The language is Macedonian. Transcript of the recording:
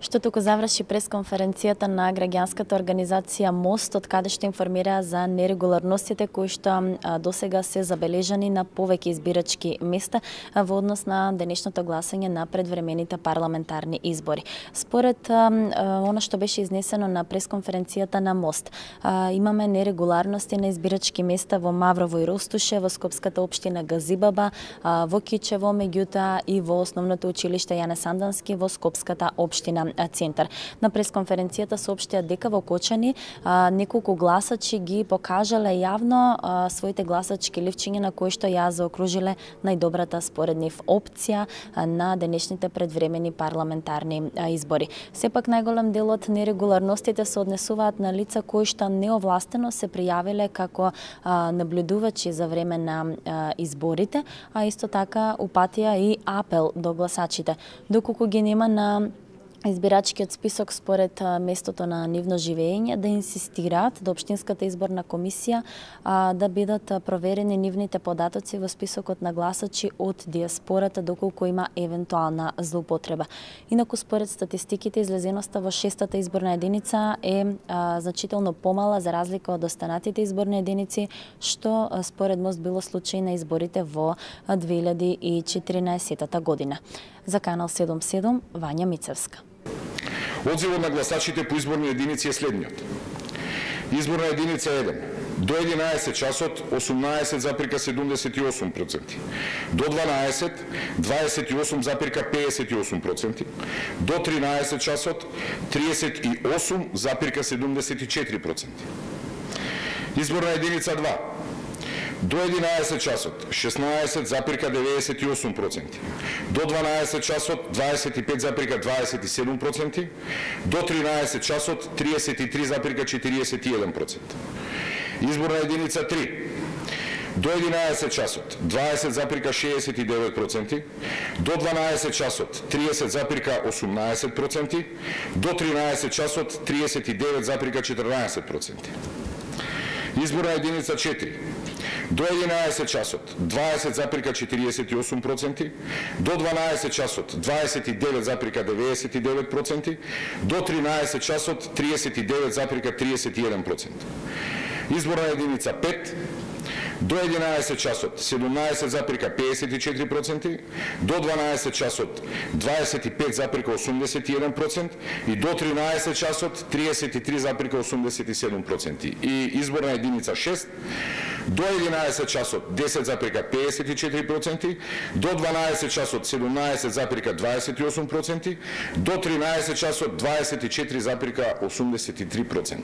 Што туку заврши пресконференцијата на граѓанската организација МОСТ, од каде што информираа за нерегуларностите кои што досега се забележани на повеќе избирачки места во однос на денешното гласање на предвремените парламентарни избори. Според она што беше изнесено на пресконференцијата на МОСТ, имаме нерегуларности на избирачки места во Маврово и Ростуше, во Скопската општина Газибаба, во Кичево, меѓутоа и во основното училиште Јане Сандански во Скопската општина Центар. На пресконференцијата соопштија дека во Кочани неколку гласачи ги покажале јавно своите гласачки ливчиња на кои што ја заокружиле најдобрата според нив опција на денешните предвремени парламентарни избори. Сепак најголем дел од нерегуларностите се однесуваат на лица кои што неовластено се пријавиле како наблюдувачи за време на изборите, а исто така упатија и апел до гласачите. Доколку ги нема на избирачкиот список според местото на нивно живење, да инсистираат до Општинската изборна комисија да бидат проверени нивните податоци во списокот на гласачи од диаспората доколку има евентуална злоупотреба. Инаку според статистиките излезеноста во 6-та изборна единица е значително помала за разлика од останатите изборни единици, што според МОСТ било случај на изборите во 2014 година. За Канал 77, Вања Мицевска. Одзивот на гласачите по изборни единици е следниот. Изборна единица 1. До 11 часот 18,78%. До 12 28,58%. До 13 часот 38,74%. Изборна единица 2. До 11 часот 16,98%. До 12 часот 25,27%. До 13 часот 33,41%. Изборна единица 3. До 11 часот 20,69%. До 12 часот 30,18%. До 13 часот 39,14%. Изборна единица 4. До 11 часот 20,48%, до 12 часот 29,99%, до 13 часот 39,31%. Изборна единица 5. До 11 часот 17,54%, до 12 часот 25,81% и до 13 часот 33,87%. И изборна единица 6. До 11 часот 10,54%, до 12 часот 17,28%, до 13 часот 24,83%.